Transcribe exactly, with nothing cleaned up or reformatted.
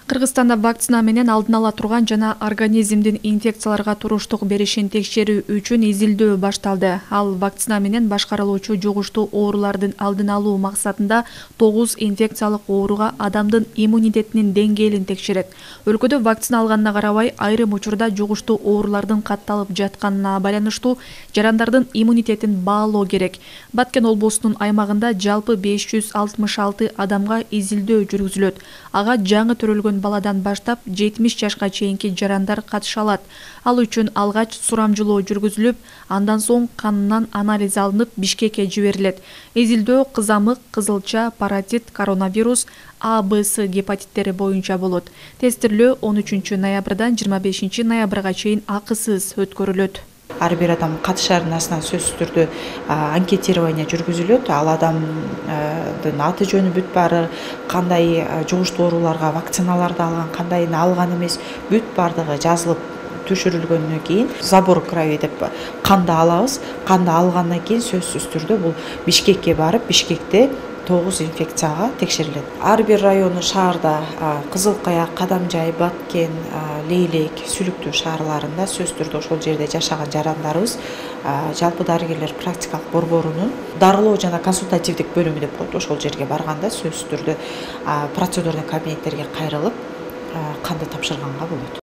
Кыргызстанда вакцина менен алдын ала турган жана организмдин инфекцияларга туруштук беришин текшерүү үчүн изилдөө башталды. Ал вакцина менен башкарылуучу жугуштуу оорулардын алдын алуу максатында тогуз инфекциялык ооруга адамдын иммунитетинин деңгээлин текшерет. Өлкөдө вакцина алганына карабай, айрым учурда жугуштуу оорулардын катталып жатканына байланыштуу жарандардын иммунитетин баалоо керек. Баткен облусунун аймагында жалпы беш жүз алтымыш алты адамга изилдөө жүргүзүлөт. Ага жаңы төрөлгөн баладан баштап жетимиш жашка чейинки жарандар катыша алат. Ал үчүн алгач сурамжылоо жүргүзүлүп, андан соң канынан анализ алынып Бишкекке жиберилет. Изилдөө кызамык, кызылча, паротит, коронавирус, А, Б, С гепатиттери боюнча болот. Тестирлөө он үчүнчү ноябрдан жыйырма бешинчи ноябрга чейин акысыз өткөрүлөт. Ар бир адам катышардын астынан сөзсүз түрдө анкетирование жүргүзүлөт. Ал адамдын аты жөнү бүт баары, кандай жугуштуу ооруларга вакциналарды алган, кандайын алган эмес, бүт баардыгы жазылып түшүрүлгөндөн кийин забор крови деп канды алабыз. Канды алгандан кийин сөзсүз түрдө бул Бишкекке барып, Бишкекте тогуз инфекцияга текшерилет. Ар бир району шаарда Кызыл Каяк, Кадамжай, Баткен, Лейлек, Сүлүктүү шаарларында сөзсүз түрдө ошол жерде жашаган жарандарыбыз жалпы дарыгерлер практикалык борборунун дарылоо жана консультативдик бөлүмү деп коет. Ошол жерге барганда сөзсүз түрдө процедурный кабинеттерге кайрылып канды тапшырганга болот.